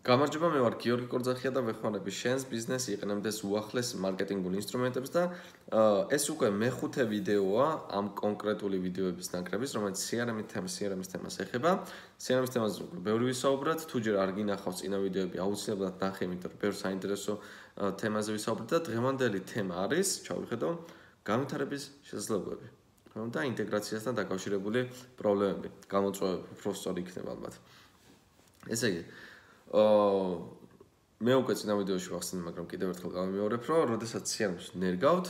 გამარჯობა, მე ვარ გიორგი კორძახია და ვეხმარები შენს ბიზნესს იყენებდეს უახლეს მარკეტინგულ ინსტრუმენტებს და ეს უკვე მეხუთე ვიდეოა ამ კონკრეტული ვიდეოების ნაკრების, რომელიც CRM-ის თემას ეხება. CRM-ის თემაზე ბევრი ვისაუბროთ, თუ ჯერ არ გინახავს წინა ვიდეოები, აუცილებლად ნახე, იმიტომ რომ ბევრ საინტერესო თემაზე ვისაუბრეთ და დღევანდელი თემა არის, ჩავიხედო, განვითარების შესაძლებლობები. და ინტეგრაციასთან დაკავშირებული პრობლემები. გამოწვევები უფრო სწორი იქნება ალბათ. ესე იგი მე უკვე წინა ვიდეოში ვახსენე, მაგრამ კიდევ ერთხელ გავიმეორებ, რომ როდესაც CRM-ს ნერგავთ,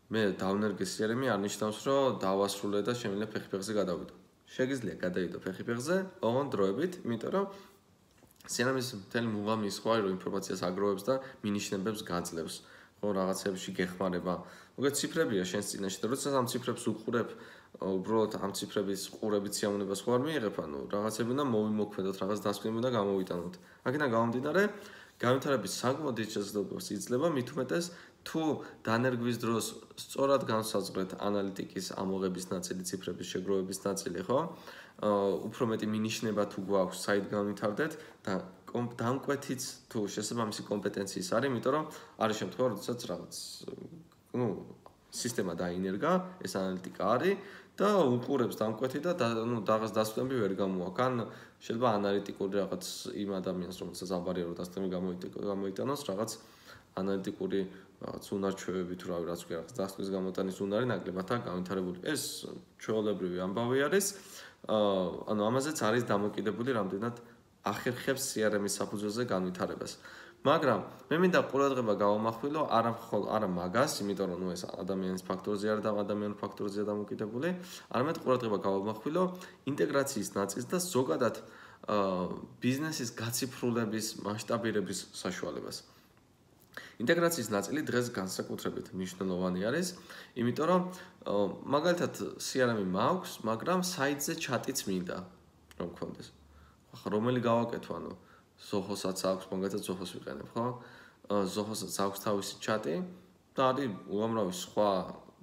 მე დავნერგე CRM-ი არ ნიშნავს, რომ დავასრულე და შემიძლია ფეხი-ფეხზე გადავიდო. შეგიძლია გადაიდო ფეხი-ფეხზე, ოღონდ დროებით, იმიტომ რომ CRM-ის მთელი მუღამი ის ხო არის, რომ ინფორმაციას აგროვებს და მინიშნებებს გაძლევს. ხო, რაღაცებში გეხმარება. მოგეთ ციფრებია შენს წინაშე და როდესაც ამ ციფრებს უყურებ, უბრალოდ ამ ციფრების ყურებით სიამოვნებას ხო არ მიიღებ, ანუ რაღაცები უნდა მოვიმოქმედოთ, რაღაც დასკვნები უნდა გამოვიტანოთ. აქედან გამომდინარე, განვითარების საკმაოდ დიდ შესაძლებლობას იძლევა, მით უმეტეს თუ დანერგვის დროს სწორად განსაზღვრეთ ანალიტიკის ამოღების ნაწილი, ციფრების შეგროვების ნაწილი, ხო? უფრო მეტი მინიშნება თუ გვაქვს, საით განვითარდეთ და დამკვეთიც თუ შესაბამისი კომპეტენციის არის, იმიტომ რომ არის შემთხვევა, როდესაც რაღაც სისტემა დაინერგა, ეს ანალიტიკა არის და უყურებს დამკვეთი და რაღაც დასკვნები ვერ გამოაქვს. ან შეიძლება ანალიტიკური რაღაც იმ ადამიანს, რომელსაც აბარია რომ დასკვნები გამოიტანოს, რაღაც ანალიტიკური რაღაც უნარჩვევები თუ რავი, რაც ქვია, რაღაც დასკვნის გამოტანის უნარი ნაკლებადაა განვითარებული. ეს ჩვეულებრივი ამბავი არის. ანუ ამაზეც არის დამოკიდებული რამდენად ახერხებს CRM-ის საფუძველზე განვითარებას. მაგრამ მე მინდა ყურადღება გავამახვილო არა მაგას, იმიტომ რომ ეს ადამიანის ფაქტორზე არ და ადამიანურ ფაქტორზეა დამოკიდებული, არამედ ყურადღება გავამახვილო ინტეგრაციის ნაწილს და ზოგადად ბიზნესის გაციფრულების მასშტაბირების საშუალებას. ინტეგრაციის ნაწილი დღეს განსაკუთრებით მნიშვნელოვანი არის, იმიტომ რომ მაგალითად CRM-ი მაქვს, მაგრამ საიტზე ჩატიც მინდა რომ გქონდეს. ახლა რომელი გავაკეთო, ანუ Zoho-საც აქვს, მაგალითად Zoho-ს ვიყენებ, ხო? Zoho-საც აქვს თავისი ჩატი და არის უამრავი სხვა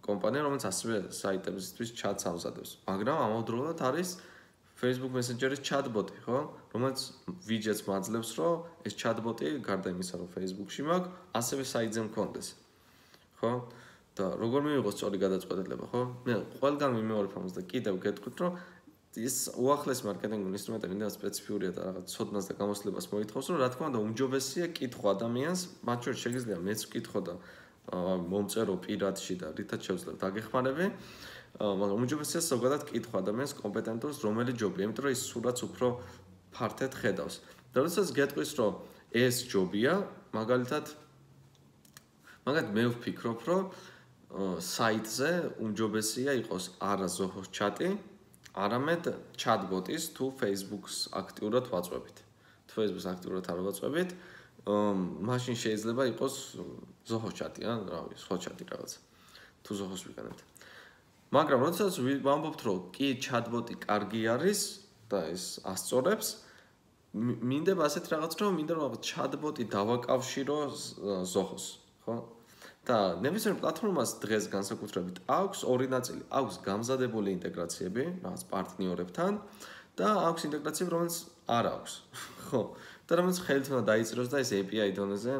კომპანია, რომელიც ასევე საიტებისთვის ჩატს ამზადებს. მაგრამ ამავდროულად არის Facebook Messenger-ის chatbot-ი, ხო? რომელიც widgets მაძლევს, რომ ეს chatbot-ი გარდა იმისა, რომ Facebook-ში მაქვს, ასევე საიტზე მქონდეს. ხო? და როგორ მივიღო სწორი გადაწყვეტილება, ხო? მე ყველგან ვიმეორებ ამას და კიდევ გეტყვით, რომ ის უახლეს მარკეტინგული ინსტრუმენტები და სპეციფიურია და რაღაც ცოდნას და გამოსლებას მოითხოვს, რომ რა თქმა უნდა უმჯობესია კითხვა ადამიანს, მათ შორის შეგიძლია მეც ვკითხო და მომწერო პირადში და რითაც შევძლებ დაგეხმარები, მაგრამ უმჯობესია ზოგადად კითხვა ადამიანს კომპეტენტურს, რომელი ჯობია, იმიტომ რომ ის სურათს უფრო ფართედ ხედავს. და როდესაც გეტყვის, რომ ეს ჯობია, მაგალითად მე ვფიქრობ, რომ საიტზე უმჯობესია იყოს არა Zoho-ს ჩატი, არამედ chatbot-ის თუ Facebook-ს აქტიურად ვაწვევით. თუ Facebook-ს აქტიურად არ ვაწვევით, მაშინ შეიძლება იყოს Zoho-ს ჩატი, ან რავი, სხვა ჩატი რაღაც. თუ Zoho-ს ვიყენებთ. მაგრამ როდესაც ვამბობთ, რომ კი chatbot-ი კარგი არის და ეს ასწორებს, მინდება ასეთ რაღაც, რომ მინდა რომ chatbot-ი დავაკავშირო Zoho-ს, ხო? და ნებისმიერ პლატფორმას დღეს განსაკუთრებით აქვს ორი ნაწილი. აქვს გამზადებული ინტეგრაციები, რაღაც პარტნიორებთან და აქვს ინტეგრაციები, რომელიც არ აქვს. ხო? და რომელიც ხელით უნდა დაიწეროს და ეს API დონეზე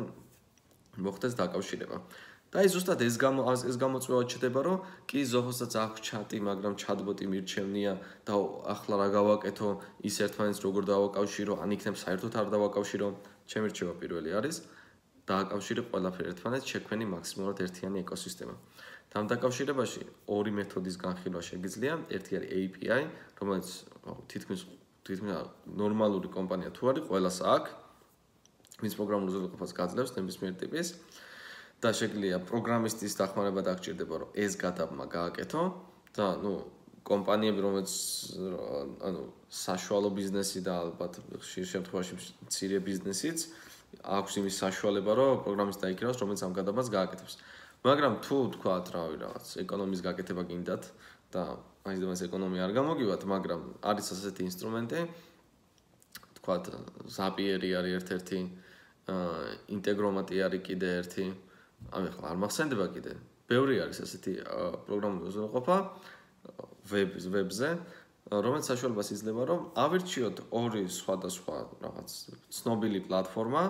მოხდეს დაკავშირება. და აი ზუსტად ეს გამოწვევა ჩდება, რომ კი Zoho-საც აქვს ჩატი, მაგრამ chatbot-ი მირჩევნია და ახლა რა გავაკეთო, ის ერთმანეთს როგორ დავაკავშირო, ან იქნებ საერთოდ არ დავაკავშირო, ჩემი რჩევა პირველი არის. დააკავშირე ყველაფერი ერთმანეთს, შექმენი მაქსიმალურად ერთიანი ეკოსისტემა. ამ დაკავშირებაში ორი მეთოდის განხილვა შეგიძლია. ერთი არის API, რომელიც თითქმის ნორმალური კომპანია თუ არის, ყველას აქვს, მის პროგრამულ უზრუნველყოფას გაძლევს ნებისმიერ ტიპის და შეგვიძლია პროგრამისტის დახმარება დაგჭირდება, რომ ეს გადაბმა გააკეთო და კომპანიები, რომელიც საშუალო ბიზნესი და ალბათ ხშირ შემთხვევაში მცირე ბიზნესიც აქვს იმის საშუალება, რომ პროგრამისტი დაიქირავს, რომელიც ამ გადაბმას გააკეთებს. მაგრამ თუ თქვათ, რავი, რაღაც ეკონომის გაკეთება გინდათ და მაინც ეკონომია არ გამოგივათ, მაგრამ არის ასეთი ინსტრუმენტი, თქვათ, Zapier-ი არის ერთ-ერთი, Integromat-ი არის კიდე ერთი, ახლა არ მახსენდება კიდე. ბევრი არის ასეთი პროგრამული უზრუნველყოფა ვებზე რომელიც საშუალებას იძლევა, რომ ავირჩიოთ ორი სხვადასხვა რაღაც ცნობილი პლატფორმა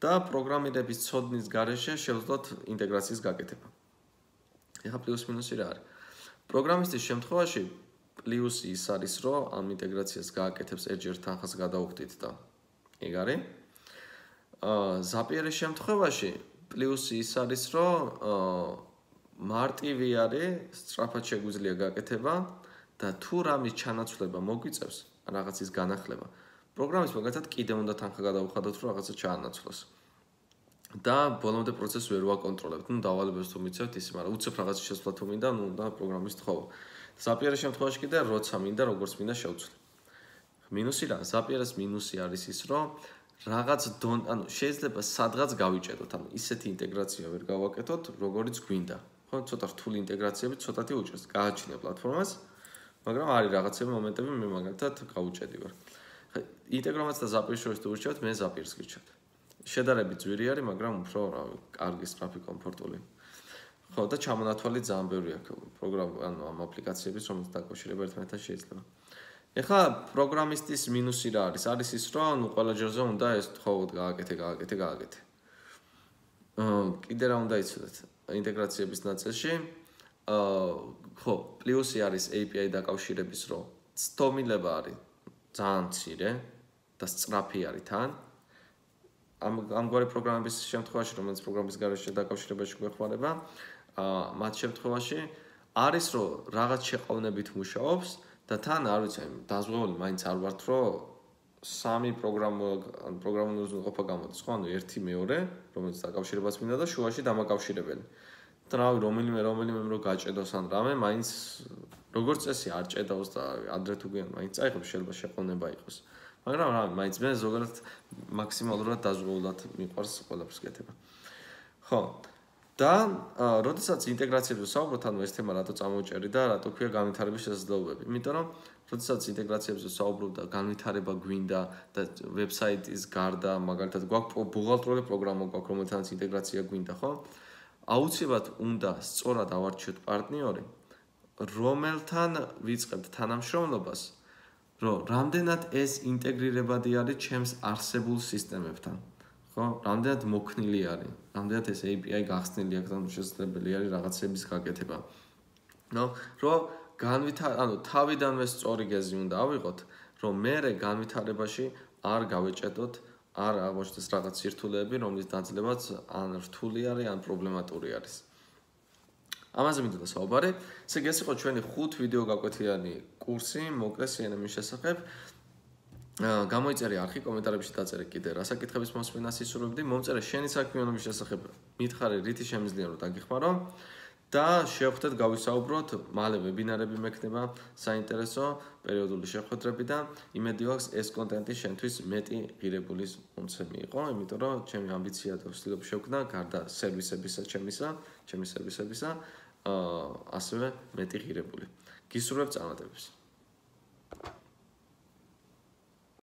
და პროგრამირების ცოდნის გარეშე შევძლოთ ინტეგრაციის გაკეთება. ეხლა პლუს მინუსი რა არის? პროგრამისტის შემთხვევაში პლუსი ის არის, რომ ამ ინტეგრაციას გააკეთებს ერთჯერ თანხას გადაუხდით და ეგ არის. ზაპიერის შემთხვევაში პლუსი ის არის, რომ მარტივი არის, სწრაფად შეგვიძლია გაკეთება და თუ რამის ჩანაცვლება მოგვიწევს, რაღაცის განახლება, პროგრამის მაგალითად კიდევ უნდა თანხა გადაუხადოთ, რომ რაღაცა ჩაანაცვლოს. და ბოლომდე პროცესს ვერ ვაკონტროლებთ. დავალებებს თუ მიცევთ ისე, მაგრამ უცებ რაღაც შესვლა თუ მინდა, და პროგრამის თხოვა. ზაპიერის შემთხვევაში კიდე როცა მინდა, როგორც მინდა შევცვლი. მინუსი რა? ზაპიერის მინუსი არის ის, რომ რაღაც შეიძლება სადღაც გავიჭედოთ, ისეთი ინტეგრაცია ვერ გავაკეთოთ, როგორიც გვინდა. ხო, ცოტა რთული ინტეგრაციები ცოტათი უჭერს. გააჩნია პლატფორმას, მაგრამ არის რაღაცები მომენტები მე მაგალითად გავუჭედი ვარ. ინტეგრომაც და ზაპიერს შორის თუ ურჩევთ, მე ზაპიერს გირჩევთ. შედარებით ძვირი არის, მაგრამ უფრო კარგი, სწრაფი, კომფორტული. ხო, და ჩამონათვალი ძალიან ბევრი აქვს ამ აპლიკაციების, რომელიც დაკავშირება ერთმანეთთან შეიძლება. ეხლა პროგრამისტის მინუსი რა არის? არის ის, რომ ყველა ჯერზე უნდა ეს თხოვოთ გააკეთე. კიდე რა უნდა იცოდეთ ინტეგრაციების ნაწილში? ხო, პლუსი არის API დაკავშირების, რომ ცდომილება არის ძალიან მცირე და სწრაფი არის თან. ამგვარი პროგრამების შემთხვევაში, რომელიც პროგრამის გარეშე დაკავშირებაში გვეხმარება, მათ შემთხვევაში არის, რომ რაღაც შეყოვნებით მუშაობს და თან არ ვიცი, დაზღვეული მაინც არ ვართ, რომ სამი პროგრამული უზრუნველყოფა გამოდის, ხო? ანუ ერთი მეორე, რომელიც დაკავშირებას მინდა და შუაში დამაკავშირებელი. და რავი, რომელიმე რომ გაჭედოს ან რამე, მაინც როგორც წესი არ ჭედავს და ადრე თუ გვიან მაინც წაიღებს, შეიძლება შეყოვნება იყოს. მაგრამ რა, მაინც მე ზოგადად მაქსიმალურად დაზღვეულად მიყვარს ყველაფერს კეთება. ხო. და როდესაც ინტეგრაციებზე ვსაუბრობთ, ანუ ეს თემა რატო წამოვჭერი და რატო ქვია განვითარების შესაძლებლობები? იმიტომ რომ როდესაც ინტეგრაციებზე ვსაუბრობ და განვითარება გვინდა და ვებსაიტის გარდა, მაგალითად, გვაქვს ბუღალტრიული პროგრამა გვაქვს, რომელთანაც ინტეგრაცია გვინდა, ხო? აუცილებლად უნდა სწორად ავარჩიოთ პარტნიორი, რომელთან ვიწყებთ თანამშრომლობას, რომ რამდენად ეს ინტეგრირებადი არის ჩემს არსებულ სისტემებთან. ხო, რამდენად მოქნილი არის, რამდენად ეს API გახსნილი აქვს, ანუ შესაძლებელი არის რაღაცების გაკეთება. რომ თავიდანვე სწორი გეზი უნდა ავიღოთ, რომ მერე განვითარებაში არ გავეჭედოთ, არ აღმოჩნდეს რაღაც სირთულეები, რომლის დაძლებაც ან რთული არის, ან პრობლემატური არის. ამაზე მინდოდა საუბარი. ეს იყო ჩვენი 5 ვიდეო გაკვეთილიანი კურსი მოკლე CNM-ის შესახებ. გამოიწერე არხი, კომენტარებში დაწერე კიდე რა საკითხების მოსმენას ისურვებდი, მომწერე შენი საქმიანობის შესახებ, მითხარე რითი შემიძლია რომ დაგიხმარო და შევხვდეთ გავისაუბროთ, მალე ვებინარები მექნება საინტერესო პერიოდული შეხვედრები და იმედი აქვს ეს კონტენტი შენთვის მეტი ღირებულის მომცემი იყო, იმიტომ რომ ჩემი ამბიცია და ვცდილობ შევქმნა გარდა სერვისებისა, ჩემი სერვისებისა, ასევე მეტი ღირებული. გისურვებ წარმატებებს.